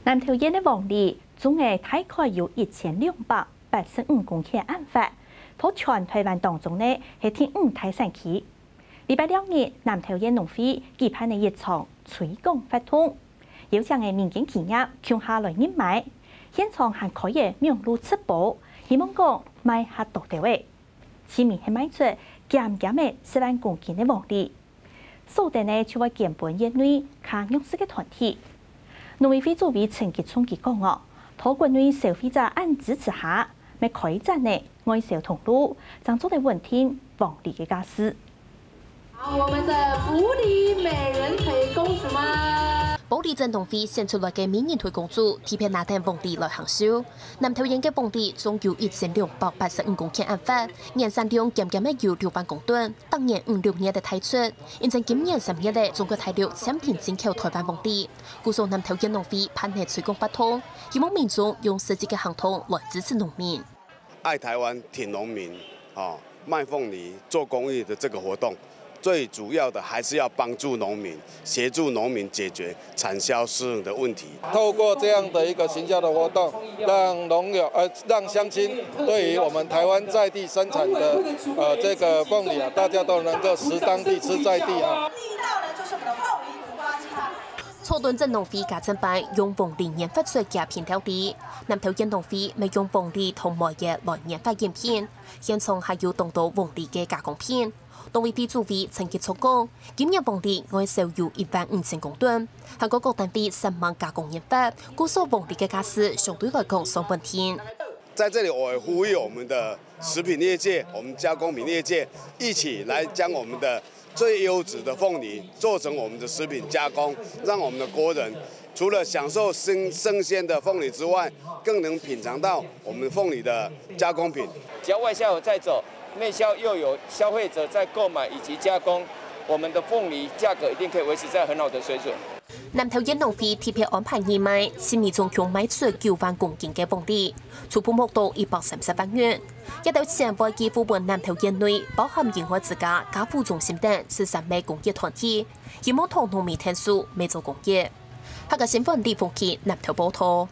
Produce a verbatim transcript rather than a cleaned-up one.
南投縣个黃梨種个大概有一千兩百八十五公頃恁闊，在全台灣當中呢係第五大產區。禮拜六日，南投縣農會舉辦了一場推廣活動，邀請个民間企業共下來認買，現場還開个網路直播，希望講賣較多兜仔。市民係賣出減減个十萬公斤个黃梨。 所得呢就會捐分縣內較弱勢个團體。農委會主委陳吉仲佢講哦，在國內消費者恁支持下，乜開展了外銷通路，正做得穩定黃梨个價數。好，我們的埔里美人腿公主嗎？埔里鎮農會選出來个美人腿公主，特別拿等黃梨來行銷。南投縣个黃梨總有一千兩百八十五公頃恁闊，年產量減減个有六萬公噸。 逐年五六月个大出，因為今年三月个中國大陸暫停進口台灣黃梨，故所南投縣農會辦个推廣活動，希望民眾用實際个行動來支持農民。愛台灣、挺農民，哦，賣鳳梨、做公益的這個活動，最主要的還是要幫助農民，協助農民解決產銷失衡的問題。透過這樣的一個行銷的活動，讓農友，呃，讓鄉親對於我們台灣在地生產的，呃，這個鳳梨啊，大家都能夠食當地、吃在地啊。草屯鎮農會加正擺用黃梨研發出个品料理，南投縣農會乜用黃梨同梅仔來研發飲品，現場還有當多黃梨个加工品。農委會主委陳吉仲講，今年黃梨外銷有一萬五千公噸，還過各單位煞猛加工研發，故所黃梨个價數相對來講算穩定。在這裡，我也呼籲我們的食品業界、我們加工品業界一起來將我們的最優質的鳳梨做成我們的食品加工，讓我們的國人除了享受生，生鮮的鳳梨之外，更能品嚐到我們鳳梨的加工品。只要外銷有在走，內銷又有消費者在購買以及加工，我們的鳳梨價格一定可以維持在很好的水準。南投縣農會特別安排義賣，市民總共賣出九萬公斤个黃梨，初步目標一百三十萬元。這兜錢會寄付分南投縣內包含英愛之家、家扶中心等十三個公益團體，希望同農民𢯭手，乜做公益。客家新聞李鳳琪南投報導。